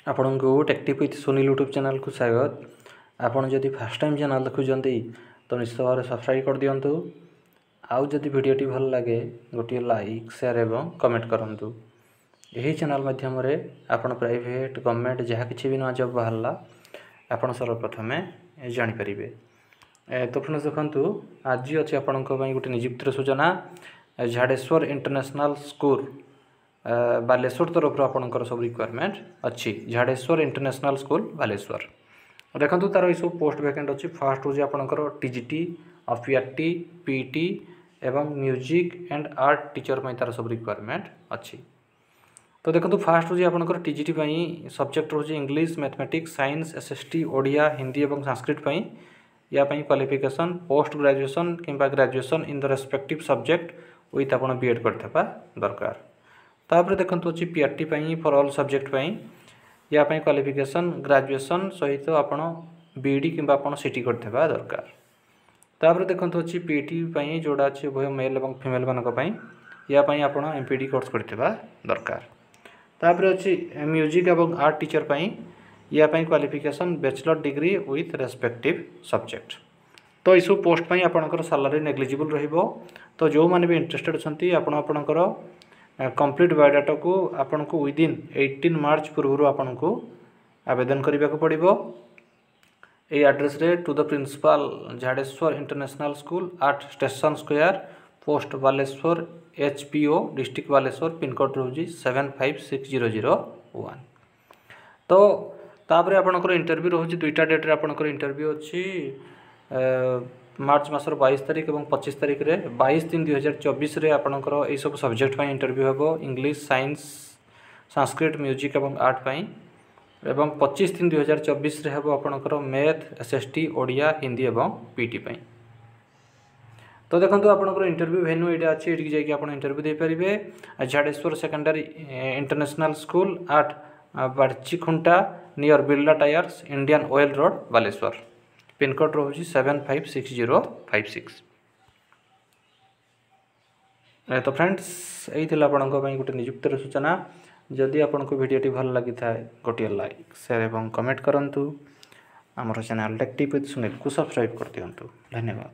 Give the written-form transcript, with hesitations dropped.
ଆପଣଙ୍କୁ tech tip with Sunil YouTube ଚ୍ୟାନେଲ୍କୁ ସ୍ୱାଗତ। ଆପଣ ଯଦି ଫାର୍ଷ୍ଟ ଟାଇମ୍ ଚ୍ୟାନେଲ୍ ଦେଖୁଛନ୍ତି, ତ ନିଶ୍ଚିତ ଭାବରେ ସବସ୍କ୍ରାଇବ୍ କରିଦିଅନ୍ତୁ। ଆଉ ଯଦି ଭିଡ଼ିଓଟି ଭଲ ଲାଗେ, ଗୋଟିଏ ଲାଇକ୍, ସେୟାର ଏବଂ କମେଣ୍ଟ କରନ୍ତୁ। ଏହି ଚ୍ୟାନେଲ୍ ମାଧ୍ୟମରେ ଆପଣ ପ୍ରାଇଭେଟ୍, ଗଭର୍ଣ୍ଣମେଣ୍ଟ ଯାହା କିଛି ବି ନୂଆ ଜବ୍ ବାହାରିଲା, ଆପଣ ସର୍ବପ୍ରଥମେ ଜାଣିପାରିବେ। ତ ଫ୍ରେଣ୍ଡସ୍, ଦେଖନ୍ତୁ, ଆଜି ଅଛି ଆପଣଙ୍କ ପାଇଁ ଗୋଟେ ନିଯୁକ୍ତିର ସୂଚନା। ଝାଡ଼େଶ୍ୱର ଇଣ୍ଟରନ୍ୟାସନାଲ୍ ସ୍କୁଲ, ବାଲେଶ୍ୱର ତରଫରୁ ଆପଣଙ୍କର ସବୁ ରିକ୍ୱାରମେଣ୍ଟ ଅଛି। Jhadeswar international school, Baleswar. ଦେଖନ୍ତୁ, ତାର ଏସବୁ ପୋଷ୍ଟ ଭ୍ୟାକେଣ୍ଟ ଅଛି। ଫାର୍ଷ୍ଟ ହେଉଛି ଆପଣଙ୍କର TGT, PRT, PET ଏବଂ ମ୍ୟୁଜିକ୍ ଆଣ୍ଡ ଆର୍ଟ ଟିଚର ପାଇଁ ତାର ସବୁ ରିକ୍ୱାରମେଣ୍ଟ ଅଛି। ତ ଦେଖନ୍ତୁ, ଫାର୍ଷ୍ଟ ହେଉଛି ଆପଣଙ୍କର ଟିଜିଟି ପାଇଁ ସବଜେକ୍ଟ ରହୁଛି English, mathematics, science, SST, Odia, Hindi ଏବଂ ସାଂସ୍କ୍ରିଟ ପାଇଁ। ୟା ପାଇଁ କ୍ୱାଲିଫିକେସନ୍ ପୋଷ୍ଟ ଗ୍ରାଜୁଏସନ୍ କିମ୍ବା graduation in the respective subject with ଆପଣ ବି ଏଡ଼୍ କରିଥିବା ଦରକାର। ତାପରେ ଦେଖନ୍ତୁ, ଅଛି ପିଆରଟି ପାଇଁ, ଫର୍ ଅଲ୍ ସବଜେକ୍ଟ ପାଇଁ। ୟା ପାଇଁ କ୍ୱାଲିଫିକେସନ୍ ଗ୍ରାଜୁଏସନ୍ ସହିତ ଆପଣ ବି ଇ ଡ଼ି କିମ୍ବା ଆପଣ ସି ଟି କରିଥିବା ଦରକାର। ତାପରେ ଦେଖନ୍ତୁ, ଅଛି ପିଇଟି ପାଇଁ, ଯେଉଁଟା ଅଛି ଉଭୟ ମେଲ୍ ଏବଂ ଫିମେଲ୍ ମାନଙ୍କ ପାଇଁ। ୟା ପାଇଁ ଆପଣ ଏମ୍ ପି ଡ଼ି କୋର୍ସ କରିଥିବା ଦରକାର। ତାପରେ ଅଛି ମ୍ୟୁଜିକ୍ ଏବଂ ଆର୍ଟ ଟିଚର ପାଇଁ। ୟା ପାଇଁ qualification bachelor degree with respective subject. ତ ଏସବୁ ପୋଷ୍ଟ ପାଇଁ ଆପଣଙ୍କର ସାଲାରୀ ନେଗ୍ଲିଜିବୁଲ୍ ରହିବ। ତ ଯେଉଁମାନେ ବି ଇଣ୍ଟରେଷ୍ଟେଡ଼ ଅଛନ୍ତି, ଆପଣ ଆପଣଙ୍କର କମ୍ପ୍ଲିଟ୍ ବାୟୋଡାଟାକୁ ଆପଣଙ୍କୁ ୱିଦିନ୍ 18 ମାର୍ଚ୍ଚ ପୂର୍ବରୁ ଆପଣଙ୍କୁ ଆବେଦନ କରିବାକୁ ପଡ଼ିବ ଏଇ ଆଡ୍ରେସ୍ରେ: to the Principal, Jhadeswar International School, at Station Square, Post Baleswar HPO, District Baleswar, pincode ରହୁଛି 756001। ତ ତାପରେ ଆପଣଙ୍କର ଇଣ୍ଟରଭ୍ୟୁ ରହୁଛି। ଦୁଇଟା ଡେଟ୍ରେ ଆପଣଙ୍କର ଇଣ୍ଟରଭ୍ୟୁ ଅଛି, ମାର୍ଚ୍ଚ ମାସର 22 ତାରିଖ ଏବଂ 25 ତାରିଖରେ। 22/3/2024ରେ ଆପଣଙ୍କର ଏଇସବୁ ସବଜେକ୍ଟ ପାଇଁ ଇଣ୍ଟରଭ୍ୟୁ ହେବ, ଇଂଲିଶ, ସାଇନ୍ସ, ସାଂସ୍କ୍ରିଟ, ମ୍ୟୁଜିକ୍ ଏବଂ ଆର୍ଟ ପାଇଁ। ଏବଂ 25/3/2024ରେ ହେବ ଆପଣଙ୍କର math, S S T, Odia, Hindi ଏବଂ ପି ଟି ପାଇଁ। ତ ଦେଖନ୍ତୁ, ଆପଣଙ୍କର ଇଣ୍ଟରଭ୍ୟୁ ଭେନ୍ୟୁ ଏଇଟା ଅଛି। ଏଇଠିକି ଯାଇକି ଆପଣ ଇଣ୍ଟରଭ୍ୟୁ ଦେଇପାରିବେ। Jhadeswar Secondary International School, at Barchikhunta, near Birla Tyres, Indian Oil Road, Baleswar. Pincode ରହୁଛି 756056। ତ ଫ୍ରେଣ୍ଡସ୍, ଏଇ ଥିଲା ଆପଣଙ୍କ ପାଇଁ ଗୋଟେ ନିଯୁକ୍ତିର ସୂଚନା। ଯଦି ଆପଣଙ୍କୁ ଭିଡ଼ିଓଟି ଭଲ ଲାଗିଥାଏ, ଗୋଟିଏ ଲାଇକ୍, ସେୟାର ଏବଂ କମେଣ୍ଟ କରନ୍ତୁ। ଆମର ଚ୍ୟାନେଲ୍ ଟେକ୍ ଟିପ୍ ୱିଥ୍ ସୁନୀଲକୁ ସବସ୍କ୍ରାଇବ୍ କରିଦିଅନ୍ତୁ। ଧନ୍ୟବାଦ।